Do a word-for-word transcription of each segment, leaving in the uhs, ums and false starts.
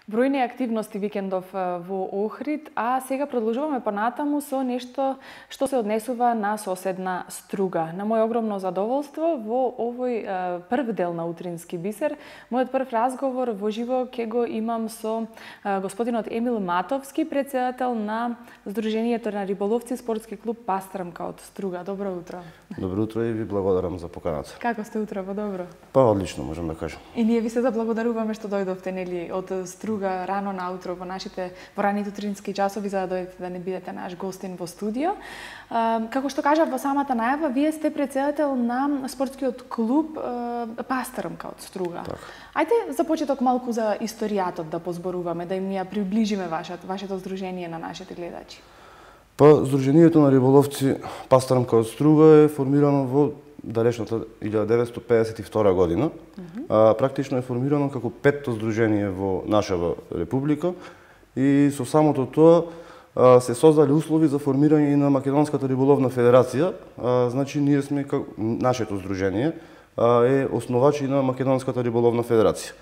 Бројни активности викендов во Охрид, а сега продолжуваме понатаму со нешто што се однесува на соседна Струга. На моје огромно задоволство во овој прв дел на Утрински бисер, мојот прв разговор во живо ќе го имам со господинот Емил Матовски, председател на Сдруженијето на риболовци спортски клуб Пастрмка од Струга. Добро утро. Добро утро и ви благодарам за поканата. Како сте утрово? Добро? Па одлично, можам да кажам. И ние ви се заблагодаруваме што дојдовте нели од Струга рано наутро во нашите во раните утрински часови за да дојдете да не бидете наш гостин во студио. Како што кажав во самата најава, вие сте председател на спортскиот клуб Пастрмка од Струга. Так. Ајде за почеток малку за историјатот да позборуваме, да им ја приближиме вашето вашето здружение на нашите гледачи. Па Сдруженијето на риболовци Пастрмка од Струга е формирано во далечната илјада деветстотини педесет и втора година. Mm -hmm. а, практично е формирано како петто здружение во нашава република и со самото тоа а, се создали услови за формирање на Македонската риболовна федерација. А, значи ние сме како нашето здружение а, е основач на Македонската риболовна федерација.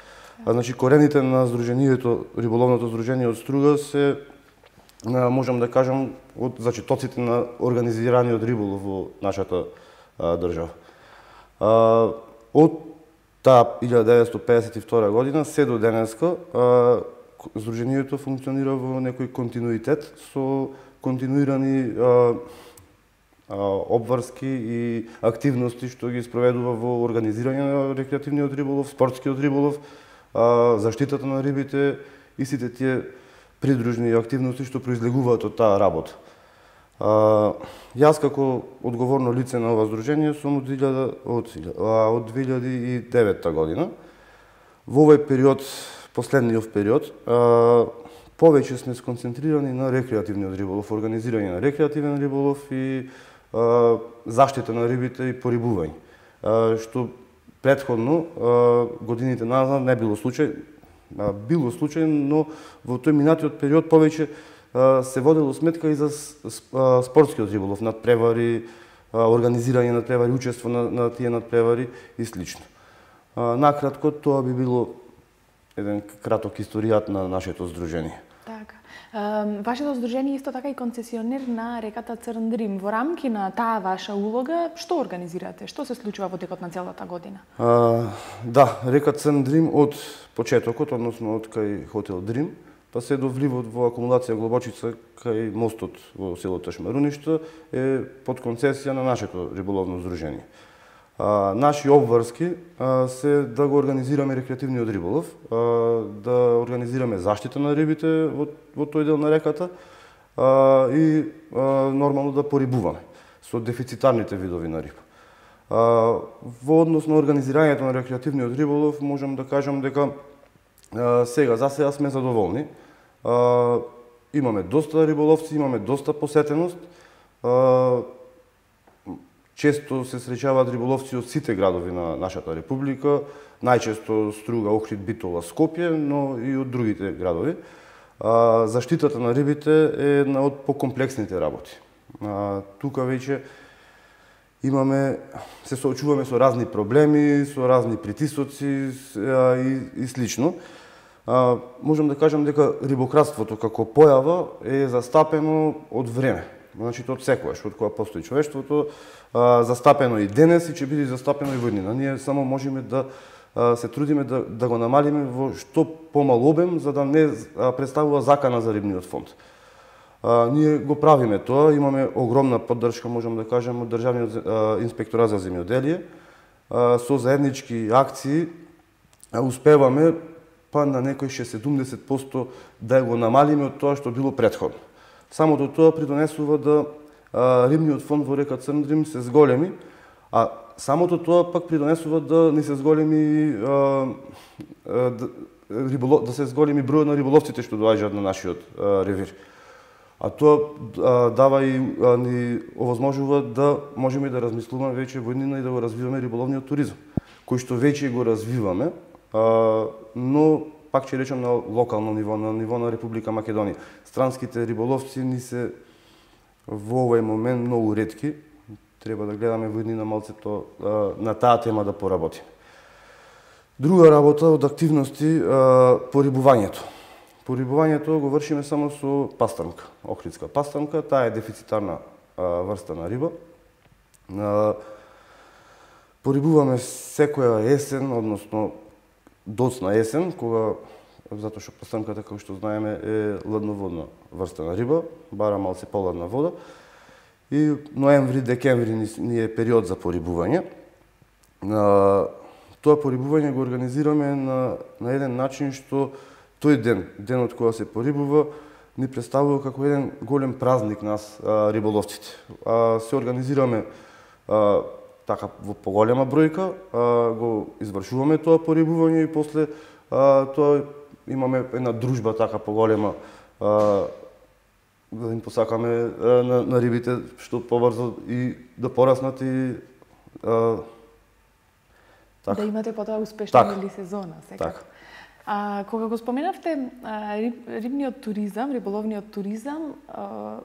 А, значи корените на здружението, риболовното здружение од Струга се а, можам да кажам од зачетоците на организираниот риболов во нашата држава. А, од таа илјада деветстотини педесет и втора година се до денеска а, Сдруженијето функционира во некој континуитет со континуирани а, а, обврски и активности што ги спроведува во организирање на рекреативниот риболов, спортскиот риболов, а, заштитата на рибите и сите тие придружни активности што произлегуваат од таа работа. А, јас како одговорно лице на ова здружение сум од, од, од две илјади и девета година. Во овој период, последниот период, а, повеќе сме сконцентрирани на рекреативниот риболов, организирање на рекреативен риболов и а, заштита на рибите и порибување. А, што претходно а, годините назад не било случај, а, било случај, но во тој минатиот период повеќе се водело сметка и за спортскиот риболов, надпревари, организирање надпревари, учество на, на тие надпревари и слично. Накратко, тоа би било еден краток историјат на нашето здружение. Така. Вашето здружение исто така и концесионер на реката Црн Дрим. Во рамки на таа ваша улога, што организирате? Што се случува во текот на целата година? А, да, река Црн Дрим од почетокот, односно од кај хотел Дрим, па се до вливот во акумулација Глобочица кај мостот во село Ташмаруништа е под концесија на нашето риболовно здружение. А, наши обврски а, се да го организираме рекреативниот риболов, а, да организираме заштита на рибите во, во тој дел на реката а, и а, нормално да порибуваме со дефицитарните видови на риба. А, во однос на организирањето на рекреативниот риболов можам да кажам дека а, сега за сега сме задоволни. А, имаме доста риболовци, имаме доста посетеност. А, често се среќаваат риболовци од сите градови на нашата република, најчесто Струга, Охрид, Битола, Скопје, но и од другите градови. А, заштитата на рибите е една од покомплексните работи. А, тука веќе имаме, се соочуваме со разни проблеми, со разни притисоци а, и, и слично. А, можам да кажам дека рибократството како појава е застапено од време. Значи, од секогаш, од кога постои човештвото, а, застапено и денес и ќе биде застапено и во иднина. Ние само можеме да а, се трудиме да, да го намалиме во што помал обем, за да не а, представува закана за рибниот фонд. А, ние го правиме тоа, имаме огромна поддршка, можам да кажем, од Државниот а, инспекторат за земјоделие. А, со заеднички акции а, успеваме па на некој шест до седумдесет проценти да го намалиме од тоа што било претходно. Самото тоа придонесува да а, рибниот фонд во река Црн Дрим се зголеми, а самото тоа пак придонесува да не се зголеми а, а, да, риболов, да се зголеми бројот на риболовците што доаѓаат на нашиот а, ревир. А тоа а, дава и а, ни овозможува да можеме да размислуваме веќе во иднина и да го развиваме риболовниот туризам, кој што веќе го развиваме, а, но пак ќе речем на локално ниво, на ниво на Република Македонија. Странските риболовци ни се во овој момент многу ретки. Треба да гледаме во иднина малцето а, на таа тема да поработиме. Друга работа од активности а, по рибувањето. порибувањето го вршиме само со пастрамка, охридска пастрамка, таа е дефицитарна а, врста на риба. А, порибуваме секоја есен, односно доцна есен, кога затоа што пастрамката, како што знаеме, е ладноводна врста на риба, бара малце поладна вода. И ноември, декември ни е период за порибување. А, тоа порибување го организираме на, на еден начин што тој ден, денот кога се порибува, ни представува како еден голем празник нас, а, риболовците. А, се организираме а, така во поголема бројка, а, го извршуваме тоа порибување и после а, тоа имаме една дружба така поголема, а, да им посакаме а, на, на рибите што побрзо и да пораснат и а, така. Да имате потоа успешна така. или сезона, секако. Така. А, кога го споменавте а, риб, рибниот туризам, риболовниот туризам, а,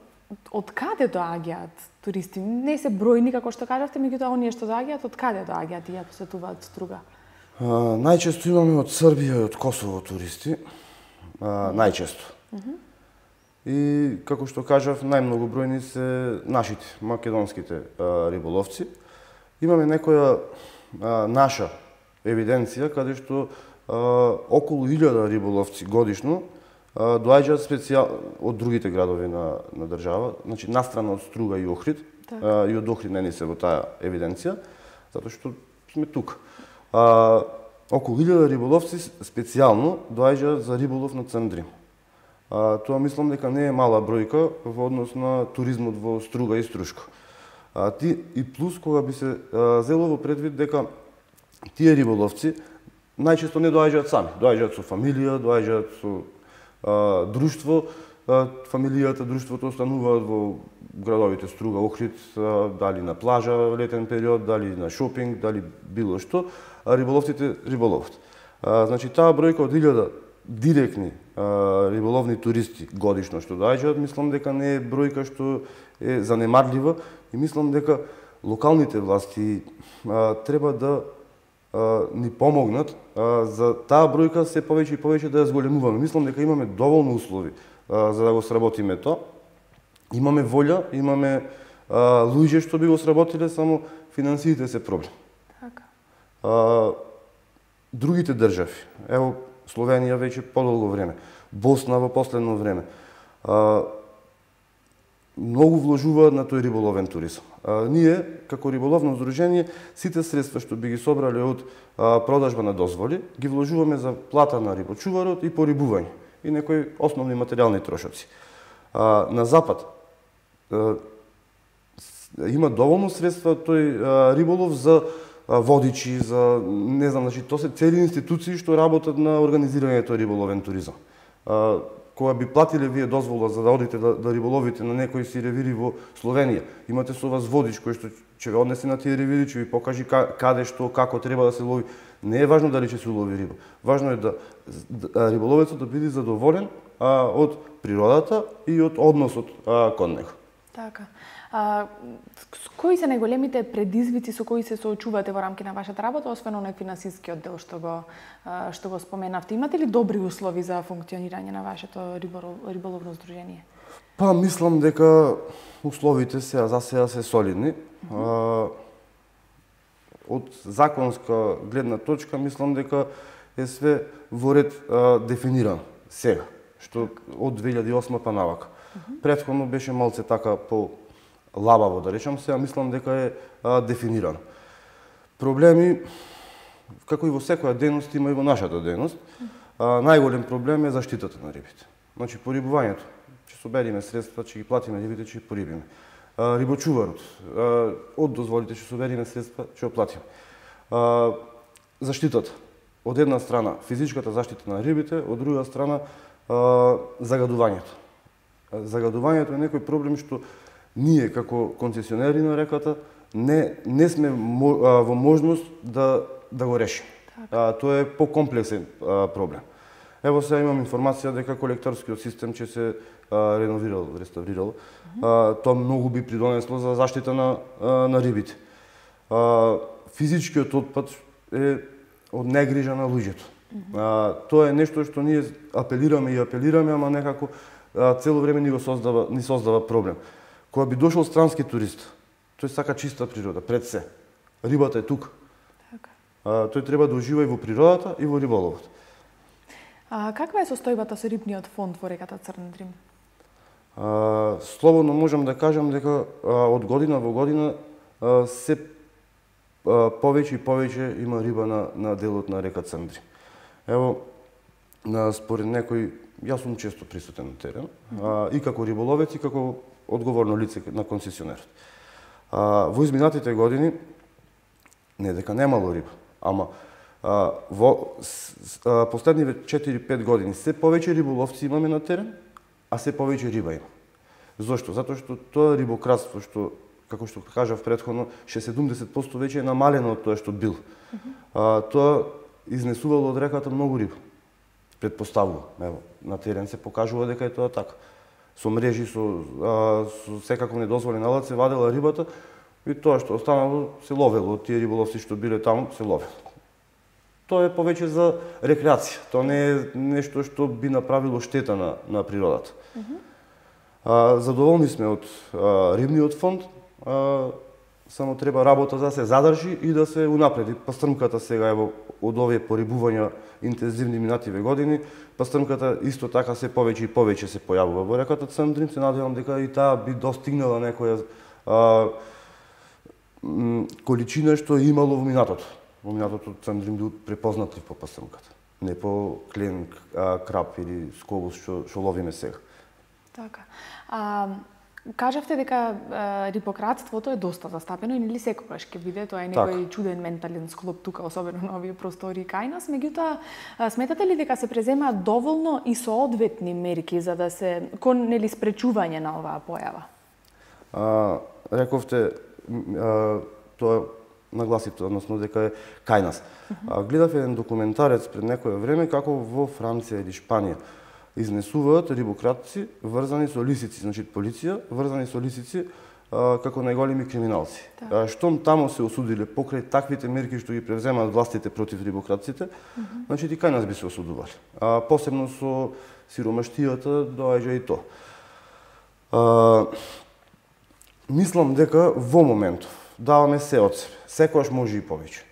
од каде доаѓаат туристи? Не се бројни, како што кажавте, меѓутоа оние што доаѓаат, од каде доаѓаат и ја посетуваат Струга? А, најчесто имаме од Србија и од Косово туристи. А, најчесто. Uh -huh. И, како што кажав, најмногу бројни се нашите, македонските а, риболовци. Имаме некоја а, наша евиденција, каде што а, околу илјада риболовци годишно а, доаѓаат специјал од другите градови на, на држава, значи настрана од Струга и Охрид, а, и од Охрид не ни се во таа евиденција, затоа што сме тука. А, околу илјада риболовци специјално доаѓаат за риболов на Црн Дрим. А, тоа мислам дека не е мала бројка во однос на туризмот во Струга и Струшко. А, ти, и плюс кога би се а, зело во предвид дека тие риболовци најчесто не доаѓаат сами, доаѓаат со фамилија, доаѓаат со а, друштво, а, фамилијата, друштвото остануваат во градовите Струга, Охрид, а, дали на плажа летен период, дали на шопинг, дали било што, а риболовците риболоват. А, значи таа бројка од илјада директни а, риболовни туристи годишно што доаѓаат, мислам дека не е бројка што е занемарлива и мислам дека локалните власти а, треба да а, ни помогнат а, за таа бројка се повеќе и повеќе да ја зголемуваме. Мислам дека имаме доволно услови а, за да го сработиме тоа. Имаме волја, имаме а, луѓе што би го сработиле, само финансиите се проблем. Така. А, другите држави, ево Словенија веќе подолго време, Босна во последно време, а, многу вложуваат на тој риболовен туризам. А, ние, како риболовно здружение, сите средства што би ги собрале од а, продажба на дозволи, ги вложуваме за плата на рибочуварот и порибување и некои основни материјални трошоци. А, на запад а, има доволно средства тој а, риболов за водичи, за не знам, значи тоа се цели институции што работат на организирањето риболовен туризам. А, кога би платиле вие дозвола за да одите да, да риболовите на некои си ревири во Словенија, имате со вас водич кој што ќе ве однесе на тие ревири, ќе ви покажи каде, што, како треба да се лови. Не е важно дали ќе се улови риба. Важно е да, да риболовецот да биде задоволен а, од природата и од односот а, кон него. Така. А, кои се најголемите предизвици со кои се соочувате во рамки на вашата работа, освен оној финансискиот дел што го што го споменавте? Имате ли добри услови за функционирање на вашето риболовно здружение? Па мислам дека условите се за сега се солидни. Mm -hmm. а, од законска гледна точка мислам дека е све во ред а, дефинирано сега, што од две илјади и осма па навака. Mm -hmm. Претходно беше малце така по лабаво, да речам, сега мислам дека е а, дефинирано. Проблеми, како и во секоја дејност, има и во нашата дејност. А, најголем проблем е заштитата на рибите. Значи, порибувањето. Ќе собериме средства, ќе ги платиме рибите, ќе ги порибиме. А, рибочуварот. А, од дозволите ќе собериме средства, ќе го платиме. А, заштитата. Од една страна, физичката заштита на рибите, од друга страна, а, загадувањето. А, загадувањето е некој проблем што ние, како концесионери на реката, не, не сме во можност да, да го решиме. А, тоа е покомплексен а, проблем. Ево сега имам информација дека колекторскиот систем ќе се а, реновирал, реставрирал. Mm -hmm. а, тоа многу би придонесло за заштита на, а, на рибите. А, физичкиот отпад е од негрижа на луѓето. Mm-hmm. а, тоа е нешто што ние апелираме и апелираме, ама некако а, цело време ни го создава, ни создава проблем. Кога би дошол странски турист, тој сака чиста природа, пред се. Рибата е тука. Така. А, тој треба да ужива и во природата и во риболовот. А каква е состојбата со рибниот фонд во реката Црн Дрим? А, слободно можам да кажам дека а, од година во година а, се а, повеќе и повеќе има риба на, на делот на река Црн Дрим. Ево, на, според некои, јас сум често присутен на терен, а, и како риболовец и како одговорно лице на концесионерот. А, во изминатите години, не дека немало риба, ама а, во с, а, последниве четири-пет години се повеќе риболовци имаме на терен, а се повеќе риба има. Зошто? Затоа што тоа рибократство што, како што кажав претходно, шеесет до седумдесет проценти веќе е намалено од тоа што бил. Uh-huh. А, тоа изнесувало од реката многу риба. Предпоставува. Ево, на терен се покажува дека е тоа така. Со мрежи, со, а, со секаков недозволен алат се вадела рибата и тоа што останало се ловело. Тие риболовци што биле таму се ловело. Тоа е повеќе за рекреација. Тоа не е нешто што би направило штета на, на природата. Uh-huh. а, задоволни сме од а, рибниот фонд, а, само треба работа да се задржи и да се унапреди. Пастрмката сега ево од овие порибувања интензивни минативе години, пастрмката исто така се повеќе и повеќе се појавува во реката Црн Дрим. Се надевам дека и таа би достигнала некоја а, м, количина што е имало во минатото. Во минатото Црн Дрим бил препознатлив по пастрмката, не по клен, а, крап или скобус што што ловиме сега. Така. А, кажавте дека а, рибократството е доста застапено и нели секогаш ќе биде, тоа е некој так. Чуден ментален склоп тука, особено на овие простори кај нас. Меѓутоа, сметате ли дека се преземаат доволно и соодветни мерки за да се кон нели спречување на оваа појава? А, рековте а, тоа нагласите, односно дека е кај нас. Uh-huh. Гледав еден документарец пред некое време како во Франција или Шпанија изнесуваат рибократци врзани со лисици, значи полиција врзани со лисици а, како најголеми криминалци. Да. Штом тамо се осудиле покрај таквите мерки што ги превземаат властите против рибократците, uh-huh. значи и кај нас би се осудували. А, посебно со сиромаштијата доаѓа и тоа. А, мислам дека во моментов даваме се од себе. Секојаш може и повеќе.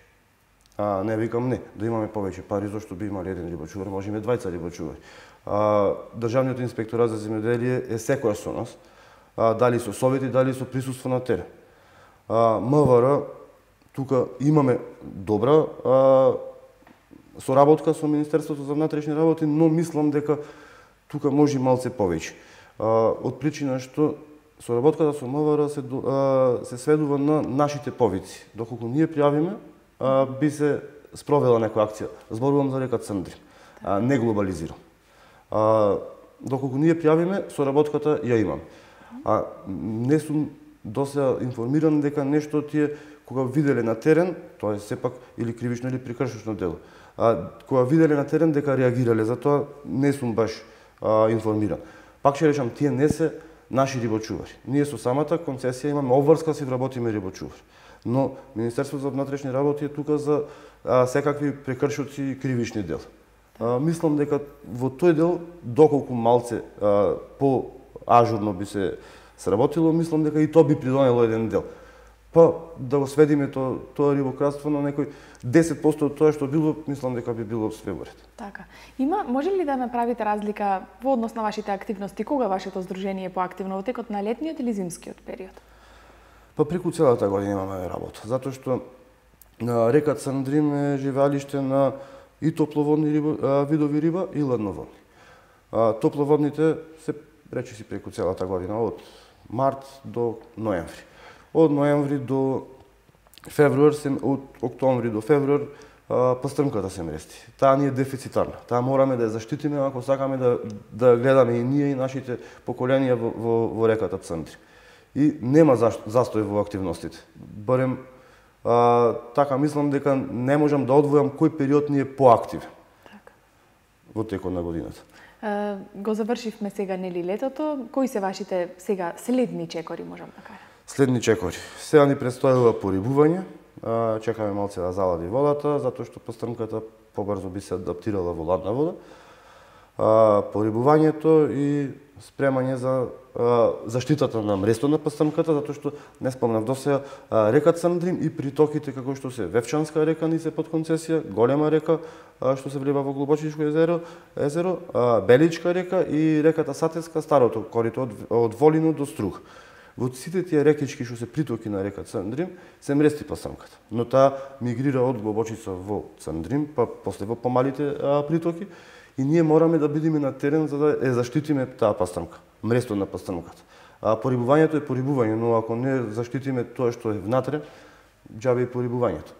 А, не викам не, да имаме повеќе пари, зашто би имали еден рибочувар, може име двајца рибочувари. А, Државниот инспекторат за земјоделие е секојаш со нас, а, дали со совети, дали со присуство на терен. А, МВР, тука имаме добра а, соработка со Министерството за внатрешни работи, но мислам дека тука може малце повеќе. А, од причина што соработката со МВР се, а, се сведува на нашите повици. Доколку ние пријавиме, а, би се спровела некоја акција. Зборувам за река Црн Дрим, а, не глобализирам. А, доколку ние пријавиме, соработката ја имам. А не сум досега информиран дека нешто тие кога виделе на терен, тоа е сепак или кривично или прекршечно дело. А кога виделе на терен дека реагирале, затоа не сум баш а, информиран. Пак ќе речам, тие не се наши рибочувари. Ние со самата концесија имаме обврска си вработиме рибочувари. Но Министерството за внатрешни работи е тука за а, секакви прекршоци и кривични дела. А, мислам дека во тој дел, доколку малце а, по ажурно би се сработило, мислам дека и тоа би придонело еден дел. Па да го сведиме тоа тоа рибократство на некој десет проценти од тоа што било, мислам дека би било све во ред. Така. Има, може ли да направите разлика во однос на вашите активности, кога вашето здружение е поактивно, во текот на летниот или зимскиот период? Па преку целата година имаме работа, затоа што на река Црн Дрим е живеалиште на и топловодни риба, а, видови риба и ладноводни. А, топловодните се речиси преку целата година, од март до ноември. Од ноември до февруар, се, од октомври до февруар, а, пастрмката се мрести. Таа ни е дефицитарна. Таа мораме да ја заштитиме ако сакаме да, да гледаме и ние и нашите поколенија во, во, во реката Црн Дрим. И нема застој во активностите. Барем А, така мислам дека не можам да одвојам кој период ни е поактивен. Така. Во текот на годината. А, го завршивме сега нели летото. Кои се вашите сега следни чекори, можам да кажам? Следни чекори. Сега ни предстојува порибување. А, чекаме малце да залади водата, затоа што пастрмката побрзо би се адаптирала во ладна вода. А, порибувањето и спремање за а, заштитата на мресто на пастармката, затоа што не спомнав досега, река Црндрим и притоките како што се Вевчанска река ни се под концесија, голема река а, што се влива во Глобочишко езеро, езеро а, Беличка река и реката Сатеска, старото корито од, од Волино до Струг. Во сите тие рекички што се притоки на река Црндрим се мрести пастармката, но таа мигрира од Глобочица во Црндрим, па после во помалите а, притоки. И ние мораме да бидеме на терен за да е заштитиме таа пастармка, мресто на пастармката. А порибувањето е порибување, но ако не заштитиме тоа што е внатре, џабе и порибувањето.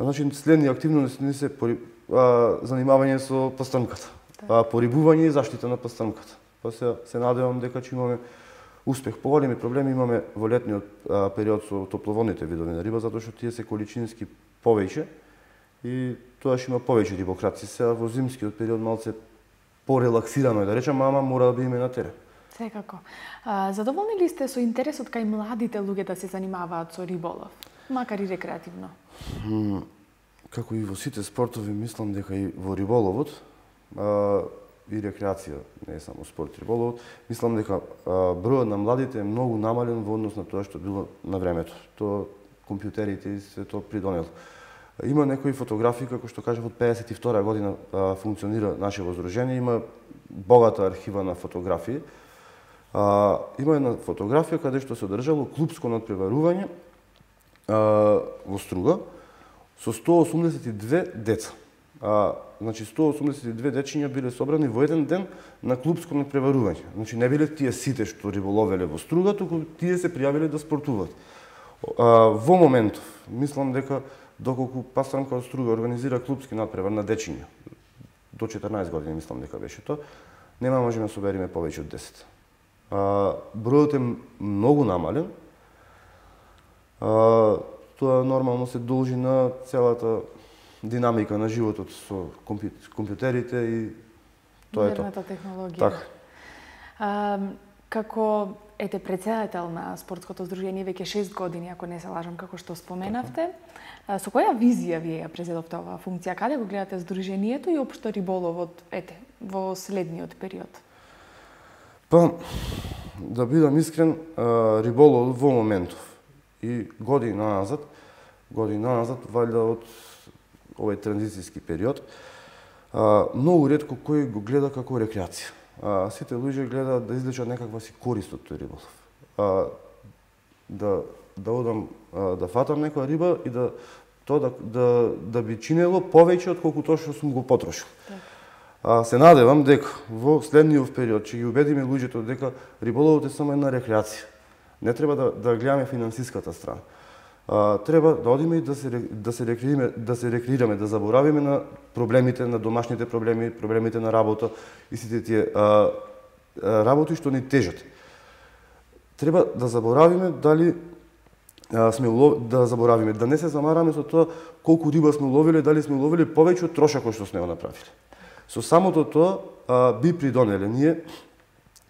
Значи следни активности не се пори... а, занимавање со пастармката. А, порибување и заштита на пастармката. Па се, се надевам дека ќе имаме успех. Поголеми проблеми имаме во летниот а, период со топловодните видови на риба, затоа што тие се количински повеќе и тоа ќе има повеќе рибокраци. Сега во зимскиот период малце порелаксирано е да речам, ама мора да бидеме на терен. Секако. А, задоволни ли сте со интересот кај младите луѓе да се занимаваат со риболов, макар и рекреативно? М, како и во сите спортови, мислам дека и во риболовот а, и рекреација, не е само спорт, риболовот, мислам дека а, бројот на младите е многу намален во однос на тоа што било на времето. Тоа компјутерите и се тоа придонело. Има некои фотографии, како што кажав, од педесет и втора година а, функционира нашето здружение, има богата архива на фотографии. А, има една фотографија каде што се одржало клупско надпреварување а, во Струга со сто осумдесет и две деца. А, значи сто осумдесет и две дечиња биле собрани во еден ден на клупско надпреварување. Значи не биле тие сите што риболовеле во Струга, туку тие се пријавиле да спортуваат. А, во моментов, мислам дека доколку пастармка од Струга организира клупски надпревар на дечиња, до четрнаесет години мислам дека беше тоа, нема можеме да собериме повеќе од десет. А, бројот е многу намален. А, тоа нормално се должи на целата динамика на животот со компјутерите и тоа е тоа. Модерната технологија. Така. А, како ете председател на спортското здружение веќе шест години, ако не се лажам, како што споменавте, а, со која визија вие ја презедовте оваа функција? Каде го гледате здружението и општо риболовот, ете, во следниот период? Па, да бидам искрен, риболовот во моментов и години назад, години назад, валјда од овој транзицијски период, многу ретко кој го гледа како рекреација. А, сите луѓе гледаат да извлечат некаква си корист од тој риболов. А, да да одам а, да фатам некоја риба и да тоа да да да би чинело повеќе од колку тоа што сум го потрошил. А, се надевам дека во следниот период ќе ги убедиме луѓето дека риболовот е само една рекреација. Не треба да да гледаме финансиската страна. А, треба да одиме и да се да се рекреираме, да се рекреираме, да заборавиме на проблемите, на домашните проблеми, проблемите на работа и сите тие а, а, работи што ни тежат. Треба да заборавиме дали а, сме улов... да заборавиме, да не се замараме со тоа колку риба сме уловиле, дали сме уловиле повеќе од трошокот што сме го направиле. Со самото тоа а, би придонеле ние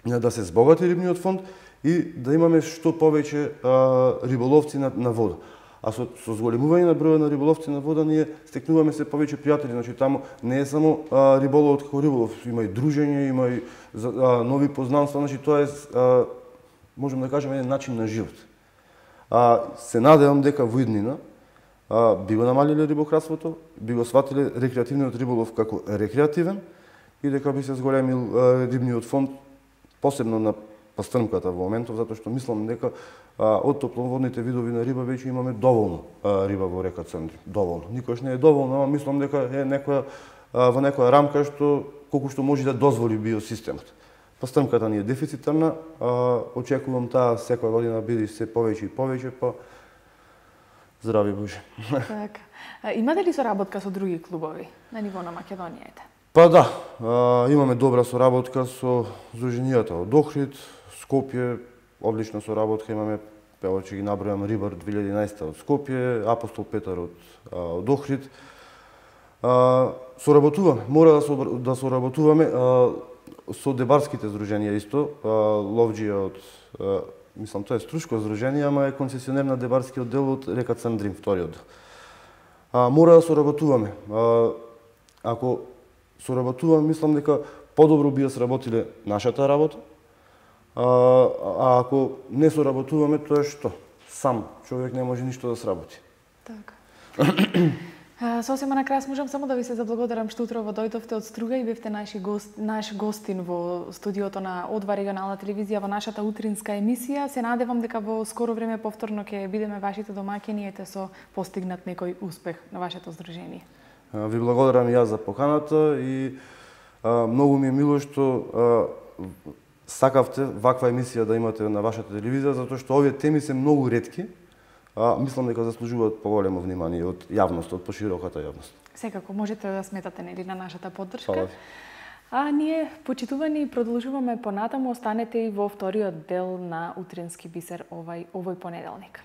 да се збогати рибниот фонд и да имаме што повеќе а, риболовци на, на вода. А со, со зголемување на бројот на риболовци на вода ние стекнуваме се повеќе пријатели. Значи таму не е само а, риболовот како риболов, има и дружење, има и а, нови познанства, значи тоа е а, можеме да кажеме еден начин на живот. А, се надевам дека во иднина а, би го намалиле рибократството, би го сватиле рекреативниот риболов како рекреативен и дека би се зголемил а, рибниот фонд, посебно на пастармката во моментов, затоа што мислам дека а, од топловодните видови на риба веќе имаме доволно а, риба во река Црндрим. Доволно. Никош не е доволно, ама мислам дека е некоја а, во некоја рамка што колку што може да дозволи биосистемот. Пастармката ни е дефицитарна, а, очекувам таа секоја година биде се повеќе и повеќе, па здрави Боже. Така. Имате ли соработка со други клубови на ниво на Македонијата? Па да, а, имаме добра соработка со здруженијата од Охрид, Скопје, одлична соработка имаме, ево ќе ги набројам, Рибар две илјади и единаесета од Скопје, Апостол Петар од, а, од Охрид. А, соработуваме, мора да, со, да соработуваме а, со дебарските здруженија исто, а, Ловџија од, а, мислам тоа е струшко здружение, ама е концесионер на дебарскиот дел од река Црндрим, вториот дел. А, мора да соработуваме. А, ако соработуваме, мислам дека подобро би ја сработиле нашата работа. А, а ако не соработуваме, тоа е што? Сам човек не може ништо да сработи. Така. Сосема на крај можам само да ви се заблагодарам што утрово дојдовте од Струга и бевте наши гост, наш гостин во студиото на О два регионална телевизија во нашата утринска емисија. Се надевам дека во скоро време повторно ќе бидеме вашите домаќини ете со постигнат некој успех на вашето здружение. Ви благодарам и јас за поканата и а, многу ми е мило што а, сакавте ваква емисија да имате на вашата телевизија, затоа што овие теми се многу ретки. А, мислам дека заслужуваат поголемо внимание од јавноста, од пошироката јавност. Секако можете да сметате нели на нашата поддршка. Фала ви. А ние, почитувани, продолжуваме понатаму, останете и во вториот дел на Утрински бисер овој овој понеделник.